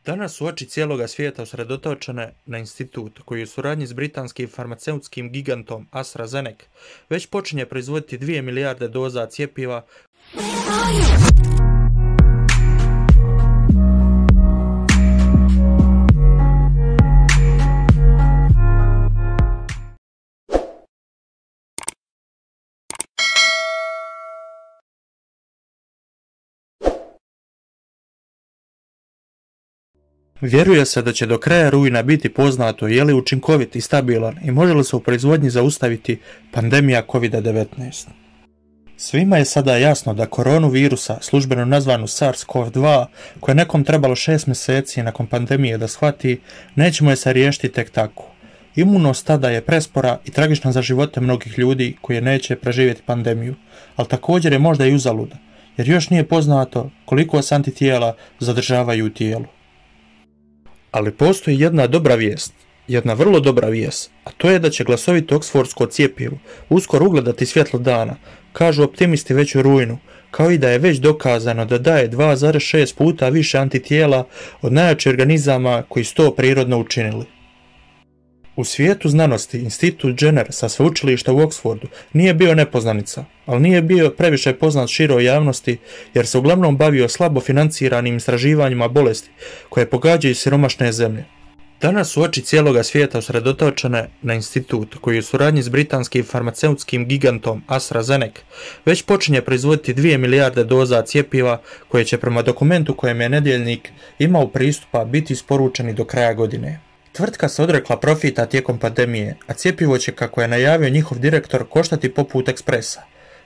Danas su oči cijeloga svijeta usredotočene na institut koji u suradnji s britanskim farmaceutskim gigantom AstraZeneca već počinje proizvoditi 2 milijarde doza cjepiva Vjeruje se da će do kraja rujna biti poznato je li učinkovit i stabilan i može li se u proizvodnji zaustaviti pandemija COVID-19. Svima je sada jasno da koronu virusa, službeno nazvanu SARS-CoV-2, koje je nekom trebalo 6 mjeseci nakon pandemije da shvati, nećemo je se riješiti tek tako. Imunost tada je prespora i tragična za živote mnogih ljudi koji neće preživjeti pandemiju, ali također je možda i uzaluda, jer još nije poznato koliko se antitijela zadržavaju u tijelu. Ali postoji jedna dobra vijest, jedna vrlo dobra vijest, a to je da će glasovito oksfordsko cjepivo uskoro ugledati svjetlo dana, kažu optimisti već u rujnu, kao i da je već dokazano da daje 2,6 puta više antitijela od najjačih organizama koji su to prirodno učinili. U svijetu znanosti Institut Jenner sa sveučilišta u Oxfordu nije bio nepoznanica, ali nije bio previše poznat široj javnosti jer se uglavnom bavio slabo financiranim istraživanjima bolesti koje pogađaju siromašne zemlje. Danas su oči cijeloga svijeta usredotočene na institut koji u suradnji s britanskim farmaceutskim gigantom AstraZeneca već počinje proizvoditi 2 milijarde doza cjepiva koje će prema dokumentu kojem je Nedjeljnik imao pristupa biti isporučeni do kraja godine. Tvrtka se odrekla profita tijekom pandemije, a cjepivo će, kako je najavio njihov direktor, koštati poput ekspresa.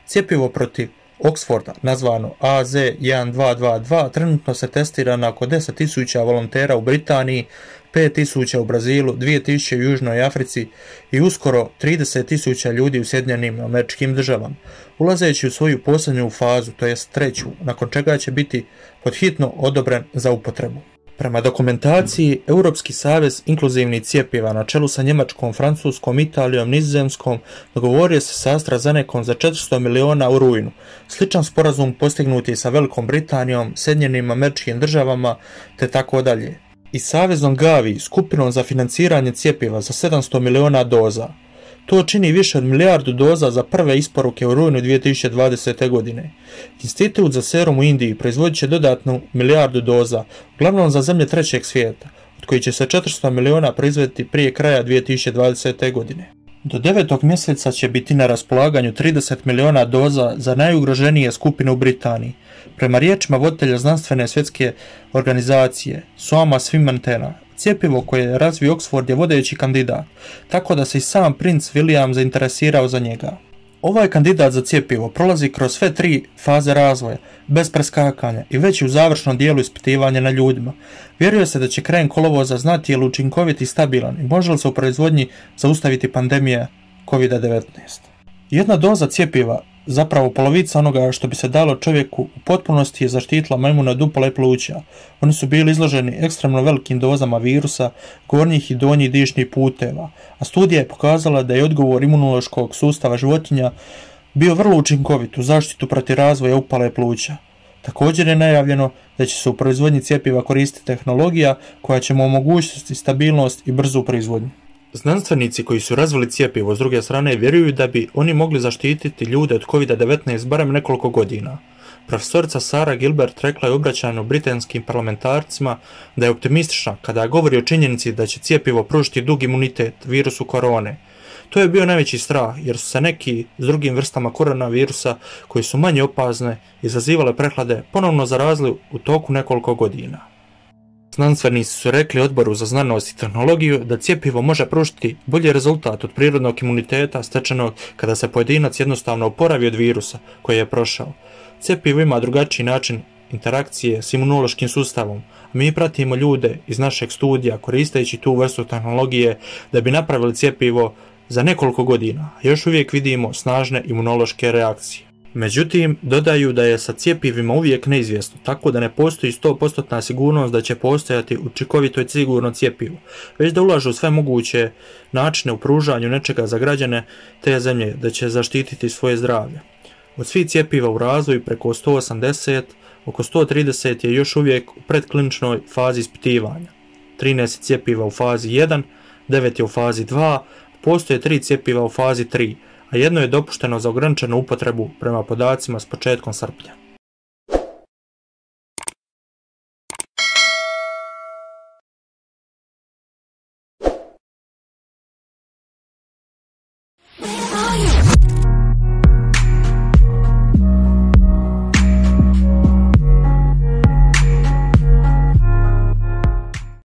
Cjepivo protiv Oxforda, nazvano AZ1222, trenutno se testira na oko 10.000 volontera u Britaniji, 5.000 u Brazilu, 2.000 u Južnoj Africi i uskoro 30.000 ljudi u Sjedinjenim Američkim Državama, ulazeći u svoju posljednju fazu, to jest treću, nakon čega će biti podhitno odobren za upotrebu. Prema dokumentaciji, Europski savez inkluzivnih cjepiva na čelu sa Njemačkom, Francuskom, Italijom, Nizozemskom dogovorio se sa AstraZenecom za 400 miliona u rujnu. Sličan sporazum postignut je sa Velikom Britanijom, Sjedinjenim Američkim Državama te tako dalje. I savezom Gavi, skupinom za financiranje cjepiva za 700 miliona doza. To čini više od milijardu doza za prve isporuke u rujnu 2020. godine. Institut za serum u Indiji proizvodit će dodatnu milijardu doza, uglavnom za zemlje trećeg svijeta, od kojih će se 400 miliona proizvoditi prije kraja 2020. godine. Do 9. mjeseca će biti na raspolaganju 30 miliona doza za najugroženije skupine u Britaniji. Prema riječima voditelja znanstvene svjetske organizacije Soama Swaminathan, cjepivo koje je razvio Oxford je vodeći kandidat, tako da se i sam princ William zainteresirao za njega. Ovaj kandidat za cjepivo prolazi kroz sve 3 faze razvoja, bez preskakanja i već u završnom dijelu ispitivanja na ljudima. Vjeruje se da će krajem kolovoza znati je li učinkovit i stabilan i može li se u proizvodnji zaustaviti pandemija COVID-19. Jedna doza cjepiva, zapravo polovica onoga što bi se dalo čovjeku, u potpunosti je zaštitila majmune od upale pluća. Oni su bili izloženi ekstremno velikim dozama virusa, gornjih i donjih dišnih puteva, a studija je pokazala da je odgovor imunološkog sustava životinja bio vrlo učinkovit u zaštitu protiv razvoja upale pluća. Također je najavljeno da će se u proizvodnji cjepiva koristiti tehnologija koja će mu omogućiti stabilnost i brzu proizvodnju. Znanstvenici koji su razvili cjepivo s druge strane vjeruju da bi oni mogli zaštititi ljude od COVID-19 barem nekoliko godina. Profesorica Sarah Gilbert rekla je u obraćanju britanskim parlamentarcima da je optimistična kada govori o činjenici da će cjepivo pružiti dug imunitet virusu korone. To je bio najveći strah jer su se neki s drugim vrstama koronavirusa koji su manje opasne izazivale prehlade ponovno zarazili u toku nekoliko godina. Znanstvenici su rekli Odboru za znanost i tehnologiju da cjepivo može pružiti bolji rezultat od prirodnog imuniteta stečenog kada se pojedinac jednostavno oporavi od virusa koji je prošao. Cjepivo ima drugačiji način interakcije s imunološkim sustavom, a mi pratimo ljude iz našeg studija koristeći tu vrstu tehnologije da bi napravili cjepivo za nekoliko godina, a još uvijek vidimo snažne imunološke reakcije. Međutim, dodaju da je sa cjepivima uvijek neizvjesno, tako da ne postoji 100% sigurnost da će postojati učinkovito i sigurno cjepivo, već da ulažu sve moguće načine u pružanju nečega za građane te zemlje da će zaštititi svoje zdravlje. Od svih cjepiva u razvoju preko 180, oko 130 je još uvijek u predkliničnoj fazi ispitivanja. 13 cjepiva u fazi 1, 9 je u fazi 2, postoje 3 cjepiva u fazi 3, a jedno je dopušteno za ograničenu upotrebu prema podacima s početkom srpnja.